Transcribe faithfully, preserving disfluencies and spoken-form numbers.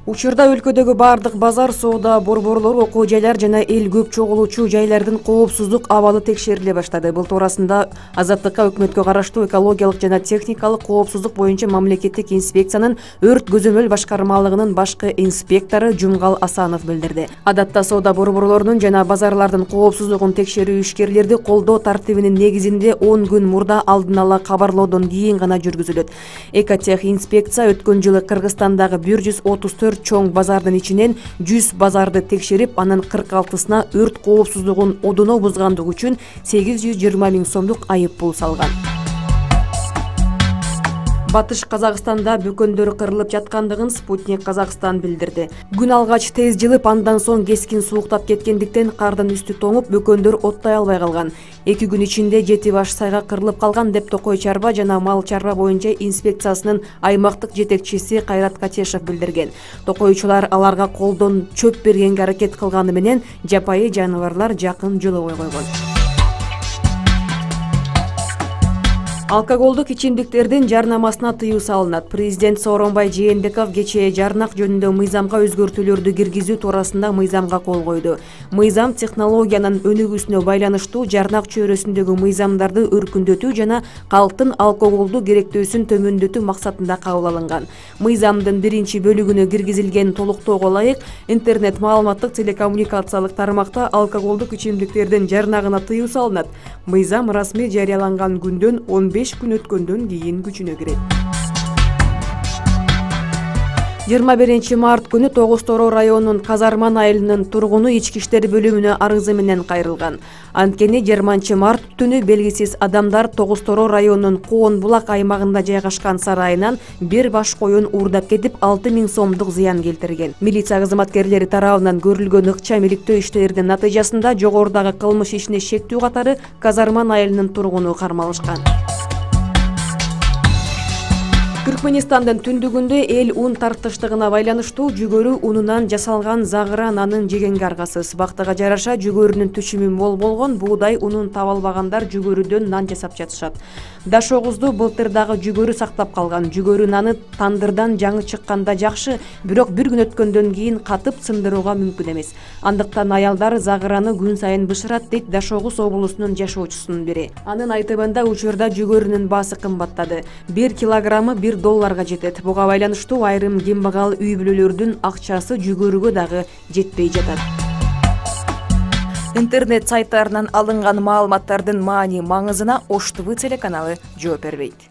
Учурда өлкөдөгү бардык базар, соода борборлор, окуу жайлар жана эл көп чогулуучу жайлардын коопсуздук абалы текшериле баштады. Бул туурасында Азаттыкка өкмөткө караштуу экологиялык жана техникалык коопсуздук боюнча мамлекеттик инспекциянын өрт көзөмөл башкармалыгынын башкы инспектору Жумгал Асанов билдирди. Адатта соода борборлорунун жана базарлардын коопсуздугун текшерүү ишкерлерди колдоо тартибинин негизинде он күн мурда алдын ала кабарлоодон кийин гана жүргүзүлөт. Экотех инспекция өткөн жылы Кыргызстандагы бир жүз отуз төрт чоң базардын ичинен жүз базарды текшерип, анын кырк алтысына өрт коопсуздугун одоно бузгандыгы үчүн сегиз жүз жыйырма миң сомдук айып пул салган. Батыш Казакстанда бөкөндөр кырылып жаткандыгын Спутник Казакстан билдирди. Күн алгач тез жылып, андан соң кескин сууктап кеткендиктен кардын үстү тоңуп, бөкөндөр оттой албай калган. Эки күн ичинде жети баш сайга кырылып калган деп Токой чарба жана мал чарба боюнча инспекциясынын аймактык жетекчиси Кайрат Катешев билдирген. Токойчулар аларга колдон чөп бергенге аракет кылганы менен жапайы жаныбарлар жакын жолобой койгон. Алкоголдук ичимдиктердин жарнамасына тыюу салынат. Президент Сооронбай Жээнбеков кечээ жарнак жөнүндө мыйзамга өзгөртүүлөрдү киргизүү туурасында мыйзамга кол койду. Мыйзам технологиянын өнүгүүсүнө байланыштуу жарнак чөйрөсүндөгү мыйзамдарды өркүндөтүү жана калктын алкоголду керектөөсүн төмөндөтүү максатында кабыл алынган. Мыйзамдын биринчи бөлүгүнө киргизилген толуктоого ылайык, интернет маалыматтык телекоммуникациялык тармакта алкоголдук ичимдиктердин жарнагына тыюу салынат. Мыйзам расмий жарыяланган күндөн он беш күн өткөндөн кийин күчүнө кирет. жыйырма биринчи март күнү Тогуз-Тороо районунун Казарман айылынын тургуну ички иштер бөлүмүнө арызы менен кайрылган. Анткени жыйырманчы март түнү белгисиз адамдар Тогуз-Тороо районунун Коон булак аймагында жайгашкан сарайынан бир баш коюн уурдап кетип, алты миң сомдук зыян келтирген. Милиция кызматкерлери тарабынан көрүлгөн ыкчам иликтөө иштеринин натыйжасында жогорудагы кылмыш ишине шектүү катары Казарман айылынын тургуну кармалышкан. Түркмөнстандын түндүгүндө эл ун тартыштыгына байланыштуу жүгөрү унунан жасалган загыра нанын жегенге аргасыз. Бактыга жараша жүгөрүнүн түшүмү мол болгон, буудай унун таба албагандар жүгөрүдөн нан жасап жатышат. Дашогузду былтыр дагы жүгөрү сактап калган. Жүгөрү наны тандырдан жаңы чыкканда жакшы, бирок бир күн өткөндөн кийин катып сындырууга мүмкүн эмес. Андыктан аялдар загыраны күн сайын бышырат, дейт Дашогуз облусунун жашоочусунун бири. Анын айтымында учурда жүгөрүнүн баасы кымбаттады. бир килограммы бир долларга жетет. Буга байланыштуу айрым кембагал үй бүлөлөрдүн акчасы жүгөрүгө дагы жетпей жатат. Интернет сайттарынан алынган маалыматтардын маани маңызына Ош ТВ телеканалы жооп бербейт.